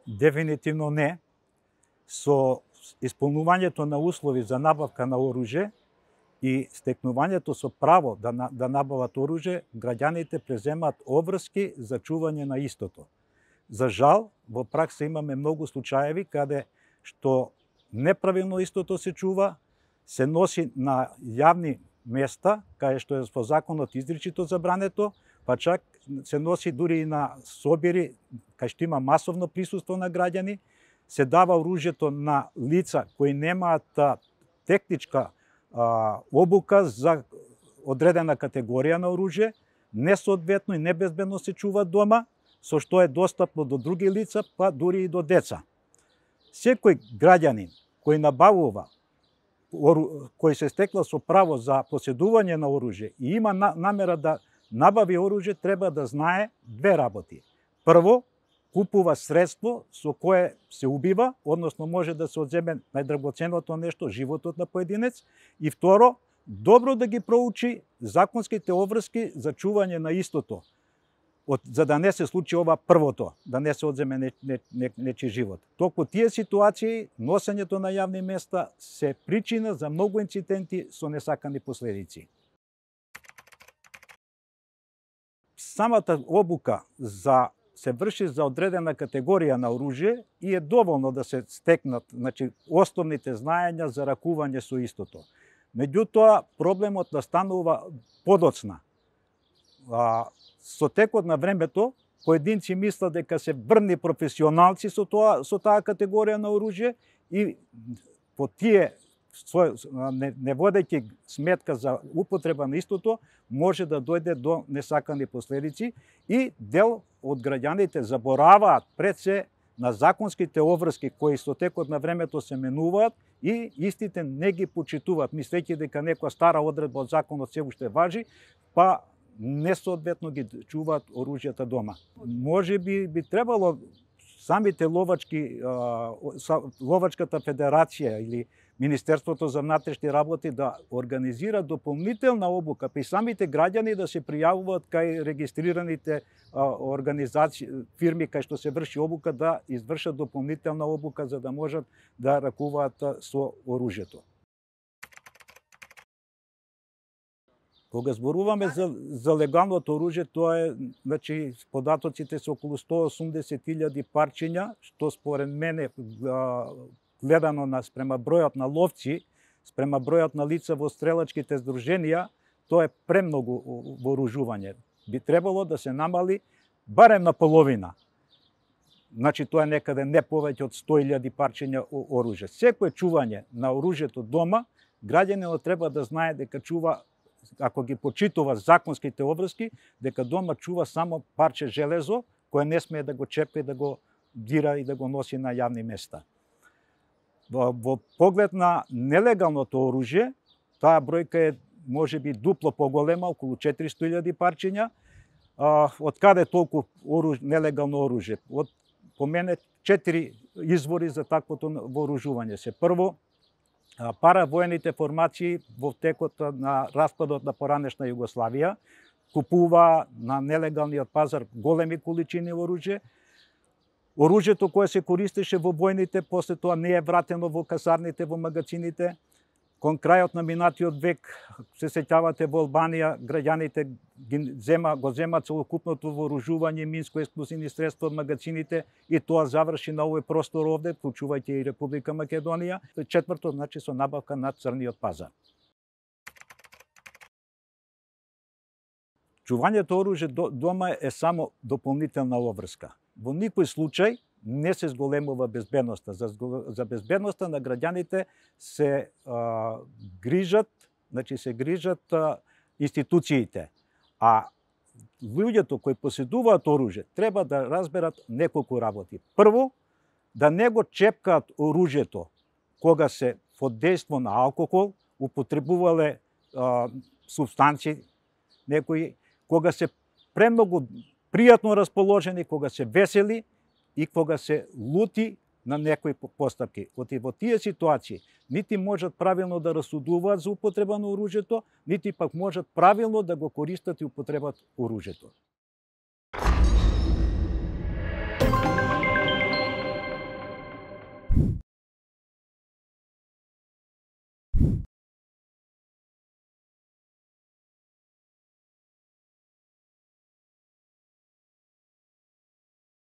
Дефинитивно не. Со исполнувањето на услови за набавка на оружје и стекнувањето со право да набават оружје, граѓаните преземаат обврски за чување на истото. За жал, во пракса имаме многу случаеви каде што неправилно истото се чува, се носи на јавни места, каде што е во законот изричито забрането, па чак се носи дури и на собири, кај што има масовно присуство на граѓани, се дава оружјето на лица кои немаат техничка обука за одредена категорија на оружје, несоодветно и небезбедно се чува дома, со што е достапно до други лица, па дури и до деца. Секој граѓанин кој набавува, кој се стекла со право за поседување на оружје и има намера да набави оружје, треба да знае две работи. Прво, купува средство со кое се убива, односно може да се одземе најдрагоценното нешто, животот на поединец. И второ, добро да ги проучи законските обврски за чување на истото, за да не се случи ова првото, да не се одземе нечи живот. Толку тие ситуации, носењето на јавни места, се причина за многу инциденти со несакани последици. Самата обука се врши за одредена категорија на оружје и е доволно да се стекнат основните знаења за ракување со истото. Меѓутоа, проблемот настанува подоцна. Со текот на времето, поединци мислат дека се врни професионалци со таа категорија на оружје и по тие, не водејќи сметка за употреба на истото, може да дојде до несакани последици и дел од граѓаните забораваат пред се на законските обврски кои со текот на времето се менуваат и истите не ги почитуваат, мислејќи дека некоја стара одредба од законот се уште важи, па несоодветно ги чуваат оружјата дома. Може би требало самите ловачката федерација или Министерството за внатрешни работи да организира дополнителна обука при самите граѓани да се пријавуваат кај регистрираните организации, фирми кај што се врши обука, да извршат дополнителна обука за да можат да ракуваат со оружјето. Кога зборуваме за легалното оружје, тоа е, податоците се околу 180.000 парчиња, што според мене гледано спрема бројот на ловци, спрема бројот на лица во стрелачките здруженија, тоа е премногу вооружување. Би требало да се намали барем на половина. Тоа е некаде не повеќе од 100.000 парчиња оружје. Секој чување на оружјето дома, граѓанинот треба да знае дека чува, ако ги почитува законските обврски, дека дома чува само парче железо, кое не смее да го чепка и да го дира и да го носи на јавни места. Во поглед на нелегалното оружје, таа бројка е можеби дупло поголема, околу 400.000 парчиња. Од каде толку нелегално оружје? По мене 4 извори за таквото вооружување се. Прво, паравоените формации во текот на распадот на поранешна Југославија купува на нелегалниот пазар големи количини оружје. Оружјето кое се користеше во војните, после тоа не е вратено во касарните, во магазините. Кон крајот на минатиот век, се сеќавате, во Албанија граѓаните го земат целокупното вооружување, минско-експлозивни средства од магазините и тоа заврши на овој простор овде, вклучувајќи и Република Македонија. Четврто, со набавка на црниот пазар. Чувањето оружје дома е само дополнителна обврска. Во никој случај не се зголемува безбедноста. За безбедноста на граѓаните се грижат институциите. А луѓето кои поседуваат оружје треба да разберат неколку работи. Прво, да не го чепкаат оружјето кога се под дејство на алкохол, употребувале супстанци некои, кога се премногу пријатно расположени, кога се весели и кога се лути на некои постапки. Во тие ситуации нити можат правилно да расудуваат за употреба на оружјето, нити пак можат правилно да го користат и употребат оружјето.